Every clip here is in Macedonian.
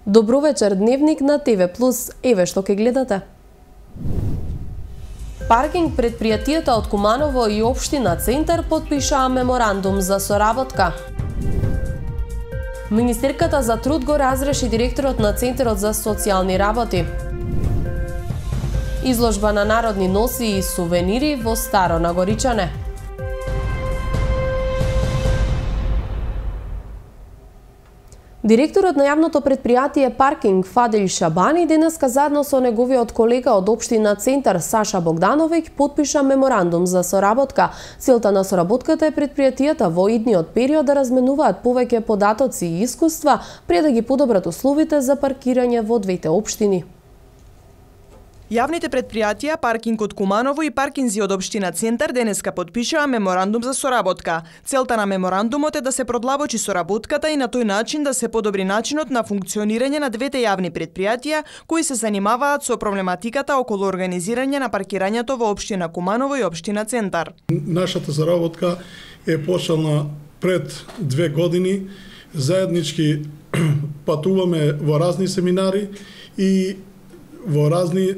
Добро вечер, Дневник на ТВ+. Еве што ќе гледате. Паркинг предпријатијата од Куманово и општина Центар потпишаа меморандум за соработка. Министерката за труд го разреши директорот на Центарот за социјални работи. Изложба на народни носи и сувенири во Старо Нагоричане. Директорот на јавното предпријатие Паркинг Фадил Шабани денеска заедно со неговиот колега од општина Центар Саша Богдановиќ потпиша меморандум за соработка. Целта на соработката е предпријатијата во идниот период да разменуваат повеќе податоци и искуства пред да ги подобрат условите за паркирање во двете општини. Јавните предпријатија Паркинг од Куманово и Паркинзи од општина Центар денеска потпишаа меморандум за соработка. Целта на меморандумот е да се продлабочи соработката и на тој начин да се подобри начинот на функционирање на двете јавни предпријатија кои се занимаваат со проблематиката околу организирање на паркирањето во општина Куманово и општина Центар. Нашата соработка е почнала пред 2 години. Заеднички патуваме во разни семинари и во разни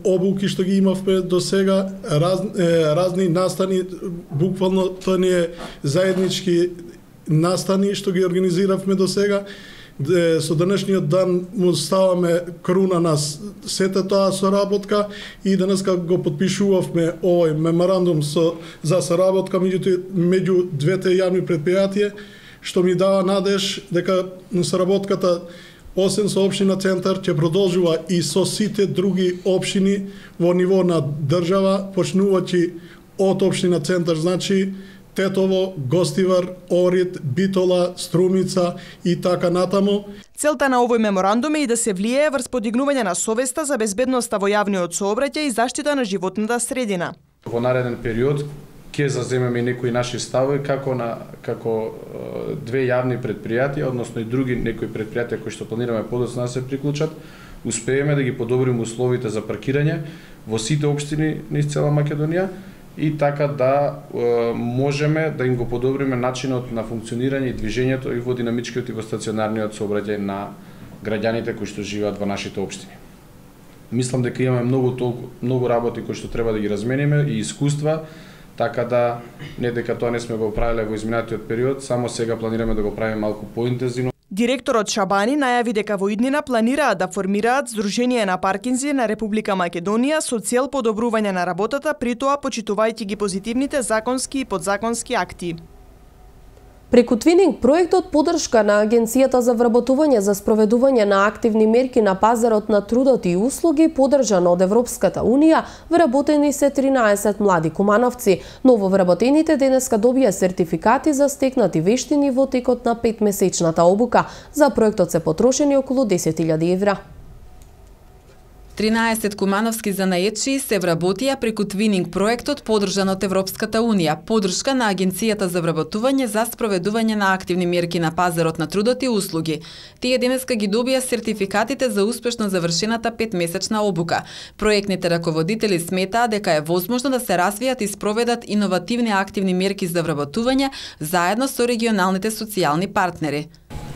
обуки што ги имавме до сега, разни настани, буквално тоа не е заеднички настани што ги организиравме до сега. Со денешниот дан му ставаме круна на сета тоа соработка и денеска го потпишувавме овој меморандум за соработка меѓу двете јавни предпријатија, што ми дава надеж дека соработката освен со општина Центар ќе продолжува и со сите други општини во ниво на држава, почнувајќи од општина Центар, значи Тетово, Гостивар, Орид, Битола, Струмица и така натаму. Целта на овој меморандум е и да се влијае врз подигнување на совеста за безбедноста во јавниот сообраќај и заштита на животната средина. Во нареден период ќе заземеме некои наши ставови како две јавни предпријатија, односно и други некои предпријатија кои што планираме подоцна да се приклучат, успееме да ги подобриме условите за паркирање во сите општини низ цела Македонија и така да можеме да им го подобриме начинот на функционирање и движењето и во динамичкиот и во стационарниот сообраќај на граѓаните кои што живеат во нашите општини. Мислам дека имаме многу работи кои што треба да ги размениме и искуства, така да не дека тоа не сме го правеле во изминатиот период, само сега планираме да го правиме малку поинтензивно. Директорот Шабани најави дека во иднина планираат да формираат Сдружение на паркинзи на Република Македонија со цел подобрување на работата, при тоа почитувајќи ги позитивните законски и подзаконски акти. Преку Твининг проектот поддршка на Агенцијата за вработување за спроведување на активни мерки на пазарот на трудот и услуги, поддржан од Европската Унија, вработени се 13 млади кумановци. Нововработените денеска добија сертификати за стекнати вештини во текот на 5-месечната обука. За проектот се потрошени околу 10.000 евра. 13 кумановски занаетчии се вработија преку Твининг проектот поддржан од Европската Унија, поддршка на Агенцијата за вработување за спроведување на активни мерки на пазарот на трудот и услуги. Тие денеска ги добија сертификатите за успешно завршената 5-месечна обука. Проектните раководители сметаа дека е возможно да се развијат и спроведат иновативни активни мерки за вработување заедно со регионалните социјални партнери.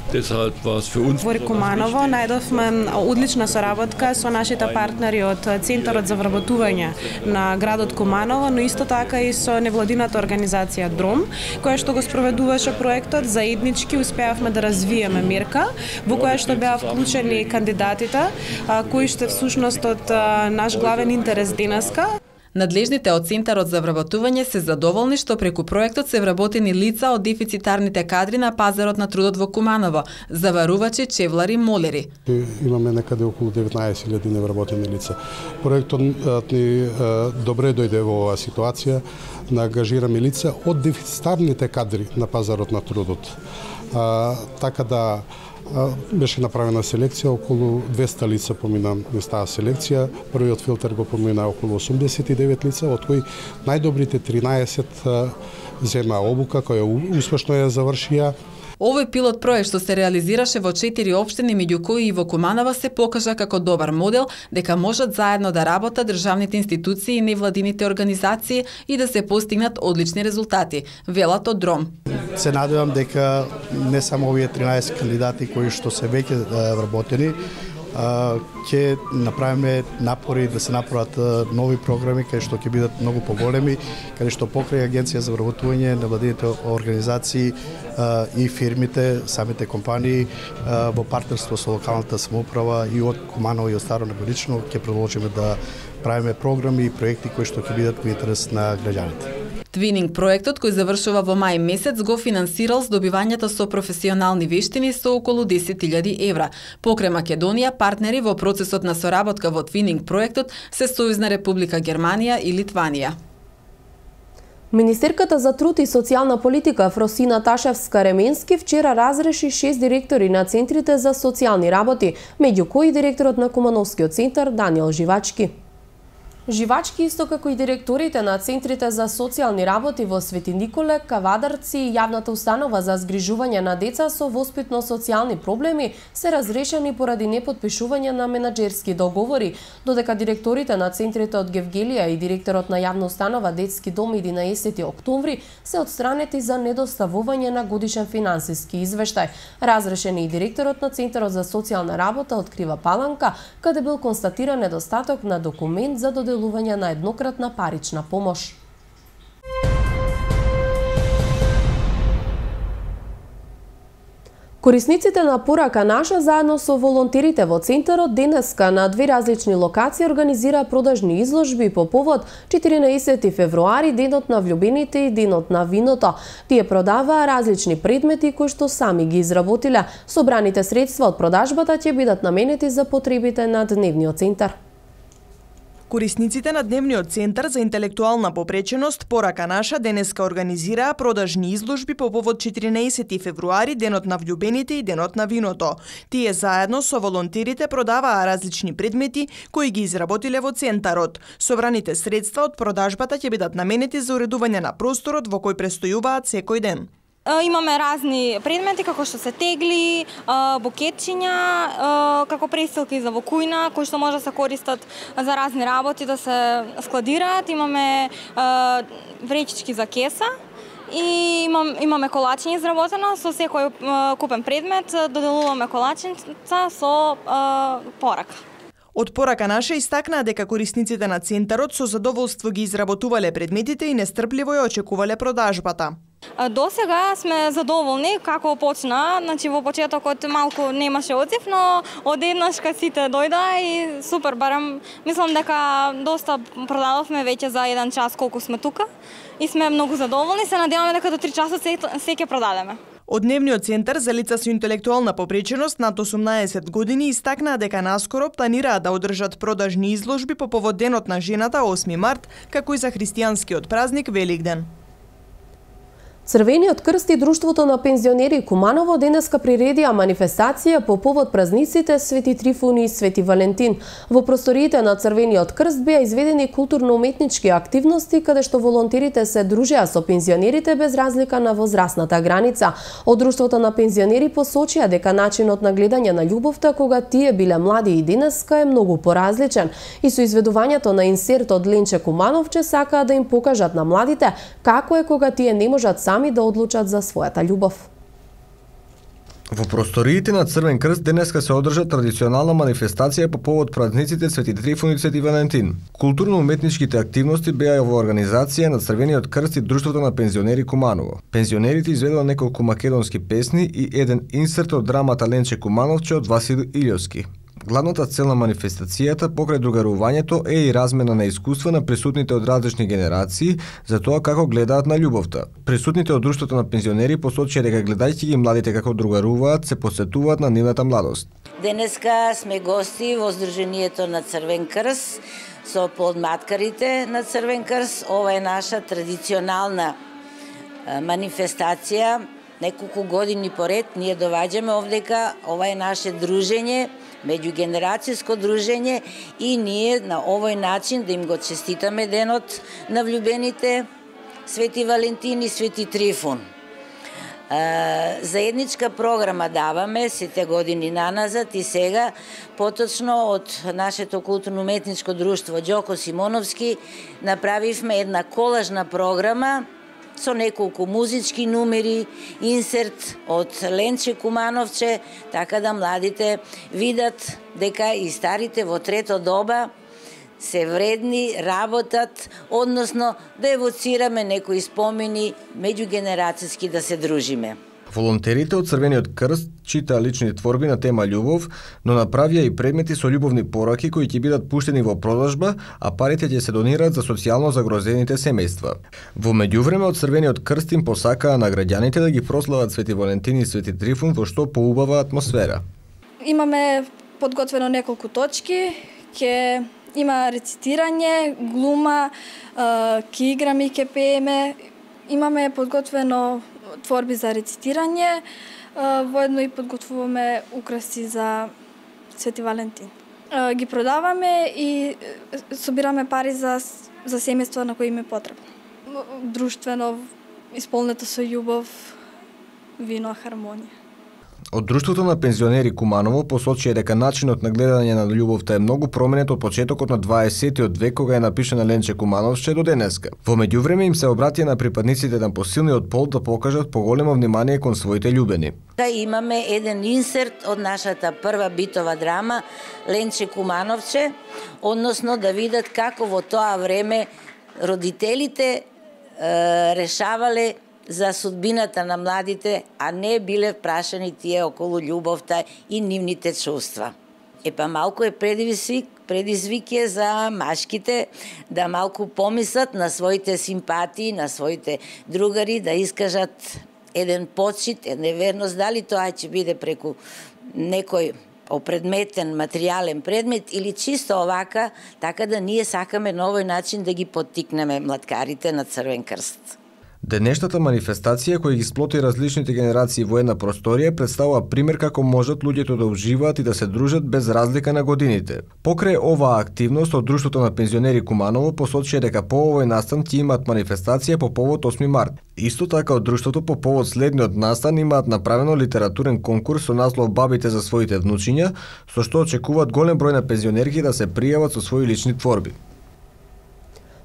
Во Куманово најдовме одлична соработка со нашите партнери од Центарот за вработување на градот Куманово, но исто така и со невладината организација ДРОМ, која што го спроведуваше проектот. Заеднички успеавме да развиеме мерка во која што беа вклучени кандидатите, кои што всушност од наш главен интерес денеска. Надлежните од Центарот за вработување се задоволни што преку проектот се вработени лица од дефицитарните кадри на пазарот на трудот во Куманово, заварувачи, чевлари, молери. Имаме некаде околу 19.000 невработени лица. Проектот ни добре дојде во оваа ситуација, на ангажираме лица од дефицитарните кадри на пазарот на трудот. Така да беше направена селекција, околу 200 лица помина низ таа селекција. Првиот филтер го помина околу 89 лица, од кои најдобрите 13 зема обука, која успешно ја завршија. Овој пилот проект што се реализираше во 4 општини, меѓу кои и во Куманово, се покажа како добар модел дека можат заедно да работат државните институции и невладините организации и да се постигнат одлични резултати, велат од ДРОМ. Се надевам дека не само овие 13 кандидати кои што се веќе вработени, ќе направиме напори да се направат нови програми каде што ќе бидат многу поголеми, каде што покрај Агенција за вработување, невладините организации и фирмите, самите компании во партнерство со локалната самоуправа и од Куманово и од Старо Него лично ќе продолжиме да правиме програми и проекти кои што ќе бидат во интерес на граѓаните. Твининг проектот, кој завршува во мај месец, го финансирал здобивањето со професионални вештини со околу 10.000 евра. Покрај Македонија, партнери во процесот на соработка во Твининг проектот се Сојузна Република Германија и Литванија. Министерката за труд и социјална политика Фросина Ташевска-Ременски вчера разреши 6 директори на центрите за социјални работи, меѓу кои директорот на Кумановскиот центар Даниел Живачки. Живачки, исто како и директорите на центрите за социјални работи во Свети Николе, Кавадарци и јавната установа за згрижување на деца со воспитно-социјални проблеми се разрешени поради непотпишување на менаџерски договори, додека директорите на центрите од Гевгелија и директорот на јавна установа Детски дом 11 октомври се отстранети за недоставување на годишен финансиски извештај. Разрешен е и директорот на Центарот за социјална работа од Крива Паланка, каде бил констатиран недостаток на документ за доделување на еднократна парична помош. Корисниците на Порака наша заедно со волонтерите во центарот денеска на 2 различни локации организира продажни изложби по повод 14 февруари, денот на влюбените и денот на виното. Тие продаваа различни предмети кои што сами ги изработиле. Собраните средства од продажбата ќе бидат наменети за потребите на дневниот центар. Корисниците на Дневниот центар за интелектуална попреченост Порака наша денеска организираа продажни изложби по повод 14 февруари, денот на влюбените и денот на виното. Тие заедно со волонтерите продаваа различни предмети кои ги изработиле во центарот. Собраните средства од продажбата ќе бидат наменети за уредување на просторот во кој престојуваат секој ден. Имаме разни предмети како што се тегли, букетчиња, како престилки за во кујна, кои што може да се користат за разни работи, да се складираат. Имаме вречички за кеса и имаме колачиња изработено со секој купен предмет, доделуваме колачиња со порака. Од Порака наша истакнаа дека корисниците на центарот со задоволство ги изработувале предметите и нестрпливо ја очекувале продажбата. До сега сме задоволни како почна, значи во почетокот малку немаше одзив, но одеднаш кога сите дојдоа и супер, барем мислам дека доста продадовме веќе за 1 час колку сме тука и сме многу задоволни, се надеваме дека до 3 часот се ќе продадеме. Од Дневниот центар за лица со интелектуална попреченост над 18 години истакнаа дека наскоро планираат да одржат продажни изложби по повод Денот на жената 8 март, како и за христијанскиот празник Великден. Црвениот крст и Друштвото на пензионери Куманово денеска приредија манифестација по повод празниците Свети Трифун и Свети Валентин. Во просториите на Црвениот крст беа изведени културно-уметнички активности каде што волонтерите се дружеа со пензионерите без разлика на возрастната граница. Од Друштвото на пензионери посочија дека начинот на гледање на љубовта кога тие биле млади и денеска е многу поразличен и со изведувањето на инсерт од Ленче Кумановче сакаа да им покажат на младите како е кога тие не можат сами да одлучат за својата љубов. Во просториите на Црвен крст денеска се одржа традиционална манифестација по повод празниците Свети Трифун и Свети Валентин. Културно-уметничките активности беа во организација на Црвениот крст и Друштвото на пензионери Куманово. Пензионерите изведоа неколку македонски песни и еден инсерт од драмата Ленче Кумановче од Васил Илјовски. Главната цел на манифестацијата покрај другарувањето е и размена на искуства на присутните од различни генерации за тоа како гледаат на љубовта. Присутните од Друштвото на пензионери посочија дека гледајќи ги младите како другаруваат, се посетуваат на нивната младост. Денеска сме гости во Сдруженијето на Црвен крст со подматкарите на Црвен крст. Ова е наша традиционална манифестација. Неколку години поред ние доваѓаме овдека, ова е наше дружење, меѓугенерацијско дружење и ние на овој начин да им го честитаме денот на влюбените Свети Валентин и Свети Трифун. Заедничка програма даваме сите години наназад и сега, поточно од нашето културно-уметничко друштво Ѓоко Симоновски направивме една колажна програма со неколку музички numeri, инсерт од Ленче Кумановче, така да младите видат дека и старите во трето доба се вредни, работат, односно да евоцираме некои спомени, меѓугенерацијски да се дружиме. Волонтерите од Црвениот крст читаа лични творби на тема љубов, но направија и предмети со љубовни пораки кои ќе бидат пуштени во продажба, а парите ќе се донираат за социјално загрозените семејства. Во меѓувреме од Црвениот крст им посакаа на граѓаните да ги прослават Свети Валентин и Свети Трифун во што поубава атмосфера. Имаме подготвено неколку точки, ќе има рецитирање, глума, ќе играме и ќе пееме. Имаме подготвено творби за рецитирање, воедно и подготвуваме украси за Свети Валентин. Ги продаваме и собираме пари за семејства на кои им е потребно. Друштвено, исполнето со љубов, вино, хармонија. Од Друштвото на пензионери Куманово посочија дека начинот на гледање на љубовта е многу променет од почетокот на 20-тиот век кога е напишана Ленче Кумановче до денеска. Во меѓувреме им се обратија на припадниците на посилниот пол да покажат поголемо внимание кон своите љубени. Имаме еден инсерт од нашата прва битова драма Ленче Кумановче, односно да видат како во тоа време родителите решавале за судбината на младите, а не биле прашани тие околу љубовта и нивните чувства. Малку е предизвик за машките да малку помислат на своите симпатии, на своите другари, да искажат еден почит, една верност, дали тоа ќе биде преку некој опредметен, материјален предмет или чисто овака, така да ние сакаме на овој начин да ги поттикнеме млаткарите на Црвен крст. Денешната манифестација која ги сплоти различните генерации во една просторија представува пример како можат луѓето да уживаат и да се дружат без разлика на годините. Покрај оваа активност од Друштвото на пензионери Куманово посочија дека по овој настан ќе имаат манифестација по повод 8 март. Исто така од Друштвото по повод следниот настан имаат направено литературен конкурс со наслов Бабите за своите внучиња, со што очекуваат голем број на пензионерки да се пријават со своји лични творби.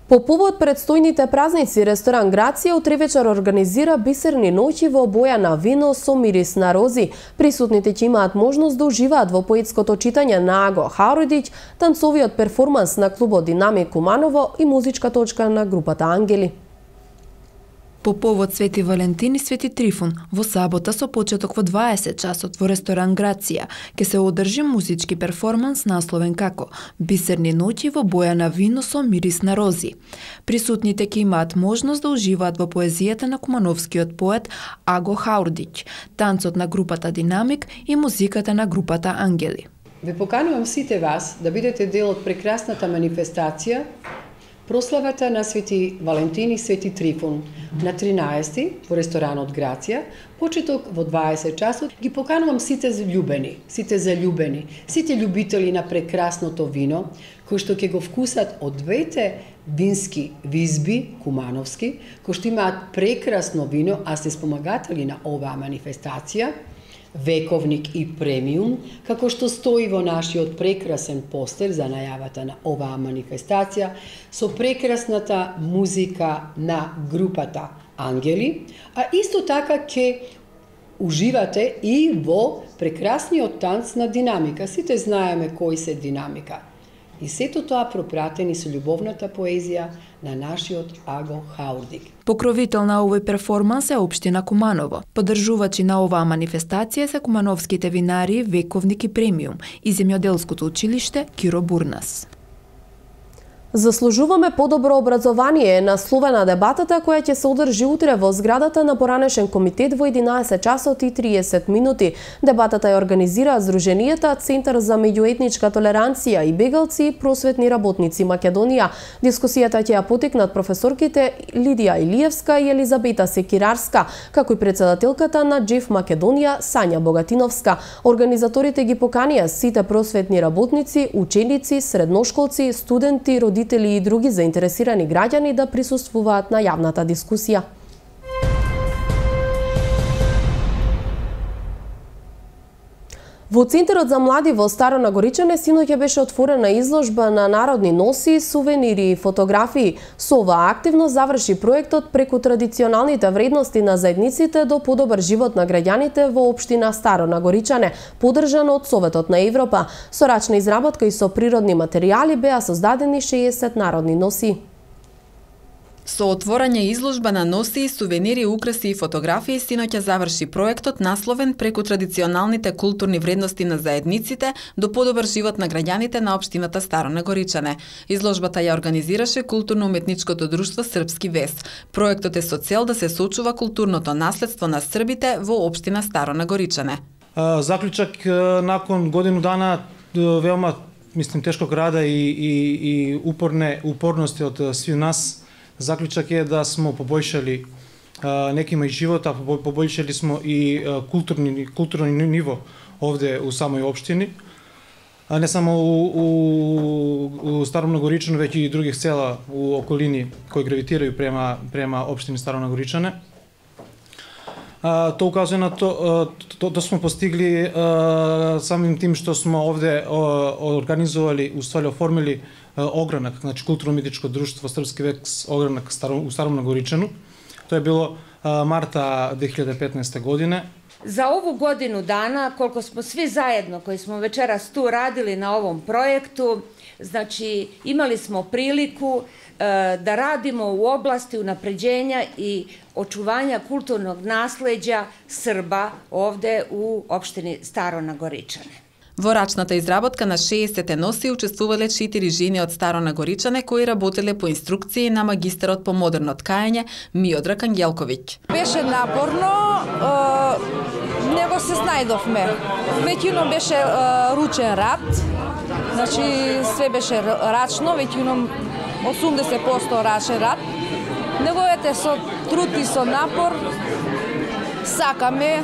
По повод предстојните празници, ресторан Грација утре вечер организира бисерни ноќи во боја на вино со мирис на рози. Присутните ќе имаат можност да уживаат во поетското читање на Аго Хаурдиќ, танцовиот перформанс на клубот Динамик Куманово и музичка точка на групата Ангели. По повод Свети Валентин и Свети Трифун, во сабота со почеток во 20 часот во ресторан Грација ќе се одржи музички перформанс насловен како Бисерни ноќи во боја на вино со мирис на рози. Присутните ќе имаат можност да уживаат во поезијата на кумановскиот поет Аго Хаурдиќ, танцот на групата Динамик и музиката на групата Ангели. Ве поканувам сите вас да бидете дел од прекрасната манифестација прославата на Свети Валентин и Свети Трифун на 13 во ресторанот Грација, почеток во 20 часот. Ги поканувам сите заљубени, сите љубители на прекрасното вино, кои што ќе го вкусат од двете вински визби, кумановски, кои што имаат прекрасно вино, а се спомагатели на оваа манифестација, Вековник и премиум, како што стои во нашиот прекрасен постер за најавата на оваа манифестација, со прекрасната музика на групата Ангели, а исто така ќе уживате и во прекрасниот танц на Динамика. Сите знаеме кои се Динамика. И сето тоа пропратени со љубовната поезија на нашиот Аго Хаурдиќ. Покровител на овој перформанс е општина Куманово. Поддржувачи на оваа манифестација се кумановските винари Вековник и премиум и земјоделското училиште Киро Бурнас. Заслужуваме подобро образование е насловена дебатата која ќе се одржи утре во зградата на поранешен комитет во 11 часот и 30 минути. Дебатата ја организира Здруженијата Центар за меѓуетничка толеранција и бегалци и просветни работници Македонија. Дискусијата ќе ја потекнат професорките Лидија Илиевска и Елизабета Секирарска, како и претседателката на Джеф Македонија Сања Богатиновска. Организаторите ги поканија сите просветни работници, ученици, средношколци, студенти, родители и други заинтересирани граѓани да присуствуваат на јавната дискусија. Во Центарот за млади во Старо Нагоричане синоќа беше отворена изложба на народни носи, сувенири и фотографии. Со оваа активност заврши проектот преку традиционалните вредности на заедниците до подобар живот на граѓаните во општина Старо Нагоричане, поддржан од Советот на Европа. Со рачна изработка и со природни материјали беа создадени 60 народни носи. Со отворање изложба на носи, сувенири, украси и фотографии синоќа заврши проектот насловен преку традиционалните културни вредности на заедниците до подобар живот на граѓаните на општината Старо Нагоричане. Изложбата ја организираше културно-уметничкото друштво Српски вес. Проектот е со цел да се сочува културното наследство на србите во општина Старо Нагоричане. Заклучок након годину дана веома тешког рада и упорности од сви нас. Заклучок е да смо побојшали некима и живот, а побојшали смо и културно ниво овде у самој општини. Не само у Старо Нагоричане, веќе и други села у околини кои гравитирају према општини Старо Нагоричане. Тоа указува на тоа смо постигли самим тим што смо овде организували, уствари оформили огранак, значи културно-уметничко друштво Српски вес огранак у Старом Нагоричану. Тоа е било марта 2015 година. За ову годину дана, колку смо сви заедно кои смо вечерас ту радили на овом проекту, значи имали смо прилику да радимо у области унапреđenja и очувања културnog наслеđа Срба овде у општини Старо Нагоричане. Во рачната изработка на 60 носи учествувале 4 жени од Старо Нагоричане кои работеле по инструкции на магистерот по модерно ткање Миодраг Ангелковиќ. Беше напорно, него се снајдовме. Веќином беше ручен рад, значи све беше рачно, веќином 80% рачен рад. Неговете со труд и со напор сакаме,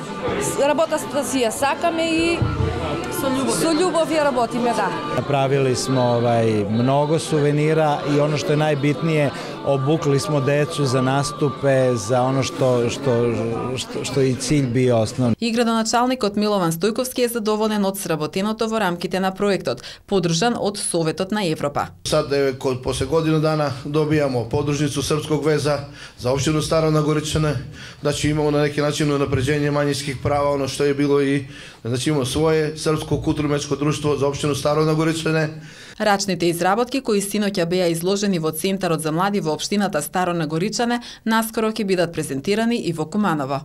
работата си ја сакаме и со љубов ја работиме, да. Направили смо многу сувенира и оно што е најбитнije, обукли смо децу за наступе, за оно што и cilj био основен. И градоначалникот Милован Стојковски е задоволен од сработеното во рамките на проектот, поддржан од Советот на Европа. Сад после годину дана добијамо поддржницу Српског веза за општину Старо Нагоричане, значи имамо на неки начин унапреđenje мањинских права, оно што е било и значи имамо свое српско културно-уметничко друштво за општину Старо Нагоричане. Рачните изработки кои синоќа беа изложени во Центарот за млади во општината Старо Нагоричане наскоро ќе бидат презентирани и во Куманово.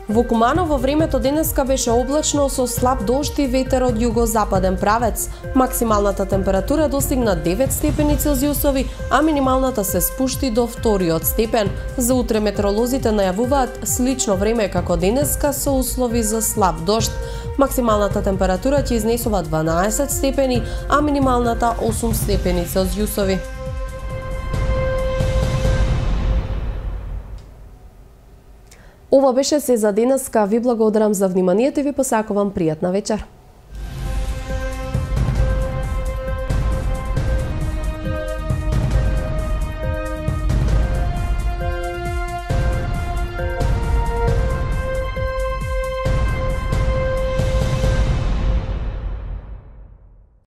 Во Куманово времето денеска беше облачно со слаб дожд и ветер од југозападен правец. Максималната температура достигна 9 степени Целзиусови, а минималната се спушти до 2 степен. За утре метеоролозите најавуваат слично време како денеска со услови за слаб дожд. Максималната температура ќе изнесува 12 степени, а минималната 8 степени Целзиусови. Ова беше се за денеска. Ви благодарам за вниманието и ви посакувам пријатна вечер.